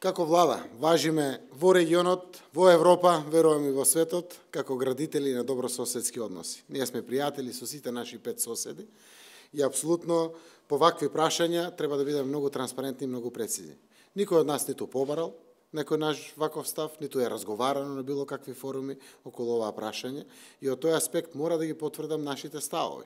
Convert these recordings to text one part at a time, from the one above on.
Како влада, важиме во регионот, во Европа, верувам и во светот, како градители на добрососедски односи. Ние сме пријатели со сите наши 5 соседи и апсолутно по вакви прашања треба да бидеме многу транспарентни и многу прецизни. Никој од нас ниту побарал некој наш ваков став, ниту е разговарано на било какви форуми околу оваа прашање и од тој аспект мора да ги потврдам нашите ставови.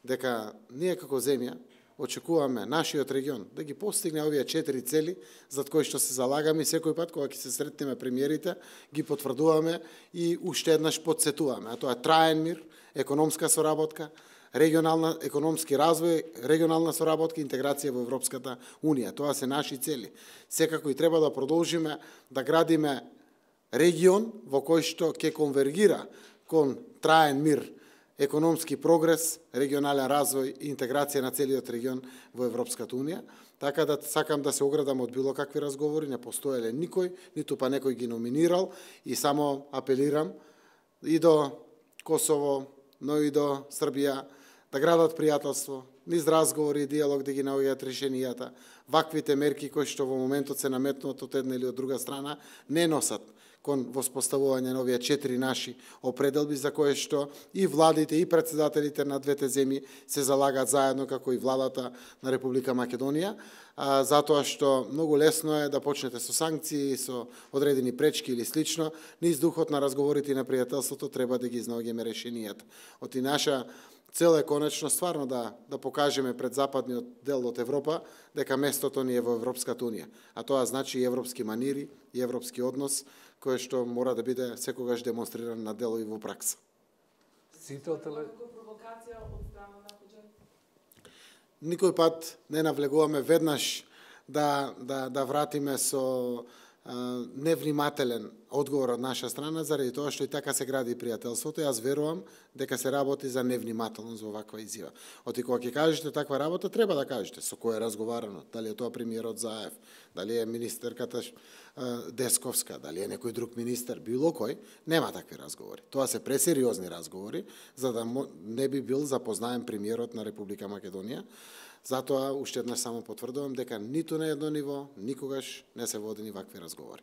Дека ние како земја очекуваме нашиот регион да ги постигне овие 4 цели зад кои што се залагаме и секој пат кога ќе се сретнеме премиерите ги потврдуваме и уште еднаш потсетуваме, а тоа е траен мир, економска соработка, регионална економски развој, регионална соработка и интеграција во Европската Унија. Тоа се наши цели. Секако и треба да продолжиме да градиме регион во кој што ќе конвергира кон траен мир, економски прогрес, регионален развој и интеграција на целиот регион во Европската Унија. Така да сакам да се оградам од било какви разговори, не постоеле никој, ниту па некој ги номинирал и само апелирам и до Косово, но и до Србија да градат пријателство, низ разговори и диалог да ги наоѓаат решенијата. Ваквите мерки кои што во моментот се наметнуваат од една или од друга страна не носат кон воспоставување на овие 4 наши определби за кое што и владите и председателите на двете земји се залагаат заедно како и владата на Република Македонија, затоа што многу лесно е да почнете со санкции, со одредени пречки или слично, низ духот на разговорите и на пријателството треба да ги изнаоѓаме решенијата. Оти наша цел е конечно стварно да покажеме пред западниот дел од Европа дека местото ни е во Европската Унија, а тоа значи и европски манири и европски однос кој што мора да биде секогаш демонстриран на дело и во пракса. Никој пат не навлегуваме веднаш да вратиме со невнимателен одговор од наша страна, заради тоа што и така се гради пријателството. Јас верувам дека се работи за невнимателност во ваква изјава. Оти кога ќе кажете таква работа, треба да кажете со кој е разговарано, дали е тоа премиерот Заев, дали е министерката Десковска, дали е некој друг министер, било кој, нема такви разговори. Тоа се пресериозни разговори, за да не би бил запознаен премиерот на Република Македонија. Затоа уште еднаш само потврдувам дека ниту на едно ниво никогаш не се водени вакви разговори.